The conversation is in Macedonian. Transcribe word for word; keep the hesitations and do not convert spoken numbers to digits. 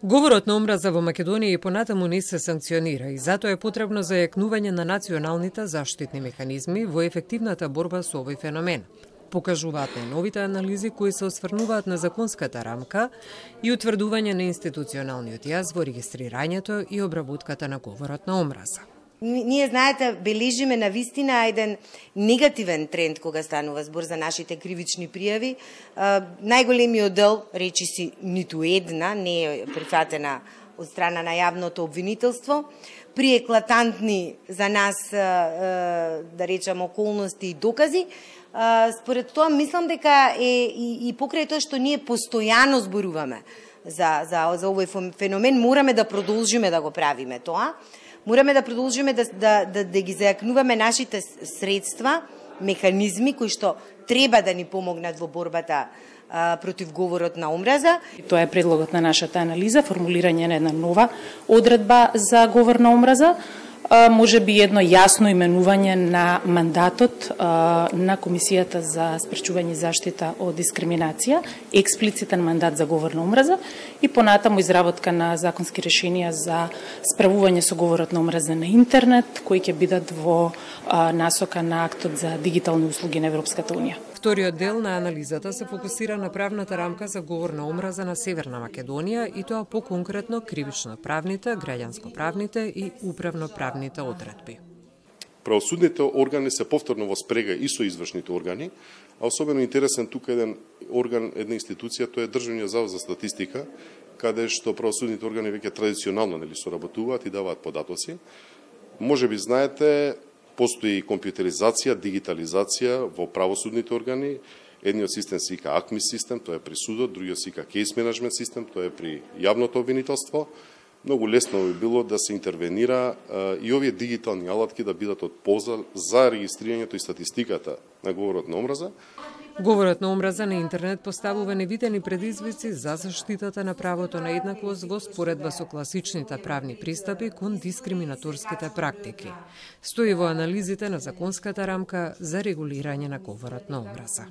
Говорот на омраза во Македонија и понатаму не се санкционира и затоа е потребно зајакнување на националните заштитни механизми во ефективната борба со овој феномен. Покажуваат најновите анализи кои се осврнуваат на законската рамка и утврдување на институционалниот јаз во регистрирањето и обработката на говорот на омраза. Ние, знаете, бележиме на вистина еден негативен тренд кога станува збор за нашите кривични пријави. Најголемиот дел, речи си, ниту една не е прифатена од страна на јавното обвинителство. При еклатантни за нас, да речем, околности и докази, според тоа мислам дека е и, и покрај тоа што ние постојано зборуваме за, за, за овој феномен, мораме да продолжиме да го правиме тоа. Мораме да продолжиме да, да, да, да ги зајакнуваме нашите средства, механизми кои што треба да ни помогнат во борбата а, против говорот на омраза. Тоа е предлогот на нашата анализа, формулирање на една нова одредба за говор на омраза, а, може би едно јасно именување на мандатот а, на Комисијата за спречување и заштита од дискриминација, експлицитен мандат за говор на омраза и понатаму изработка на законски решенија за справување со говорот на омраза на интернет, кои ќе бидат во а, насока на актот за дигитални услуги на Европската унија. Вториот дел на анализата се фокусира на правната рамка за говор на омраза на Северна Македонија и тоа поконкретно кривично-правните, граѓанско-правните и управно-правните одредби. Правосудните органи се повторно во спрега и со извршните органи, а особено интересен тука еден орган, една институција, тоа е Државниот завод за статистика, каде што правосудните органи веќе традиционално нели соработуваат и даваат податоци. Може би знаете, постои компјутеризација, дигитализација во правосудните органи. Едниот систем се вика АКМИ систем, тоа е при судот, другиот се вика кейс менеджмент систем, тоа е при јавното обвинителство. Многу лесно би било да се интервенира а, и овие дигитални алатки да бидат од полза за регистрирањето и статистиката на говорот на омраза. Говорот на омраза на интернет поставува невидени предизвици за заштитата на правото на еднаквост во споредба со класичните правни пристапи кон дискриминаторските практики. Стои во анализите на законската рамка за регулирање на говорот на омраза.